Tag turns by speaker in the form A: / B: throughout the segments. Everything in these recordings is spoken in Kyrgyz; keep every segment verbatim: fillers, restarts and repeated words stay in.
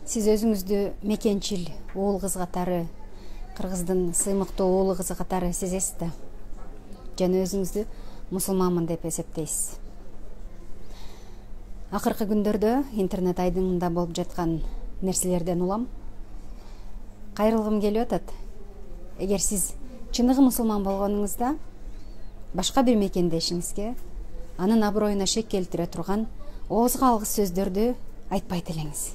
A: Сиз өзүңүздү мекенчил уул кыз катары, кыргыздын сыймыктуу уулу кызы катары сезесиз да? Жана өзүңүздү мусулманмын деп эсептейсиз. Акыркы күндөрдө интернет айдыңында болуп жаткан нерселерден улам кайрылгым келип атат. Эгер сиз чыныгы мусулман болгонуңузда башка бир мекендешиңизге анын аброюна шек келтире турган оозго алгыс сөздөрдү айтпайт элеңиз.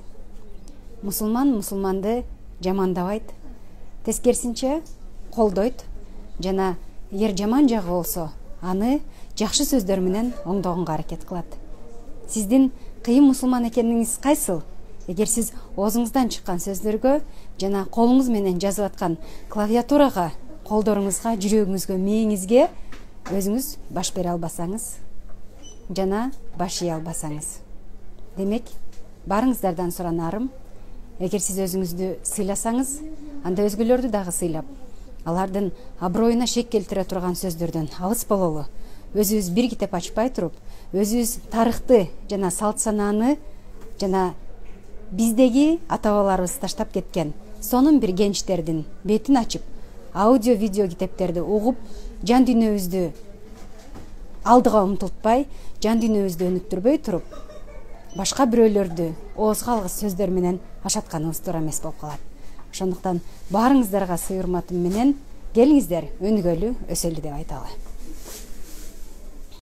A: Мусулман мусулманды жамандабайт, тескерисинче колдойт жана эгер жаман жагы болсо, аны жакшы сөздөр менен оңдогонго аракет кылат. Сиздин кыйын мусулман экениңиз кайсыл? Эгер сиз оозуңуздан чыккан сөздөргө жана колуңуз менен жазып аткан клавиатурага, колдоруңузга, жүрөгүңүзгө, мээңизге өзүңүз баш бере албасаңыз жана баш ие албасаңыз, демек баарыңыздардан суранарым, эгер сиз өзүңүздү сыйласаңыз, анда өзгөлөрдү дагы сыйлап, алардын аброюна шек келтире турган сөздөрдөн алыс бололу. Өзүбүз бир китеп ачпай туруп, өзүбүз тарыхты жана салт санааны жана биздеги ата-бабаларыбыз таштап кеткен сонун бир кенчтердин бетин ачып, аудио видео китептерди угуп, жан дүйнөбүздү алдыга умтултпай, жан дүйнөбүздү өнүктүрбөй туруп, башка бирөөлөрдү оозго алгыс сөздөр менен ашатканыбыз туура эмес болуп калат. Ошондуктан баарыңыздарга сый урматым менен келиңиздер өнүгөлү, өсөлү деп айталы.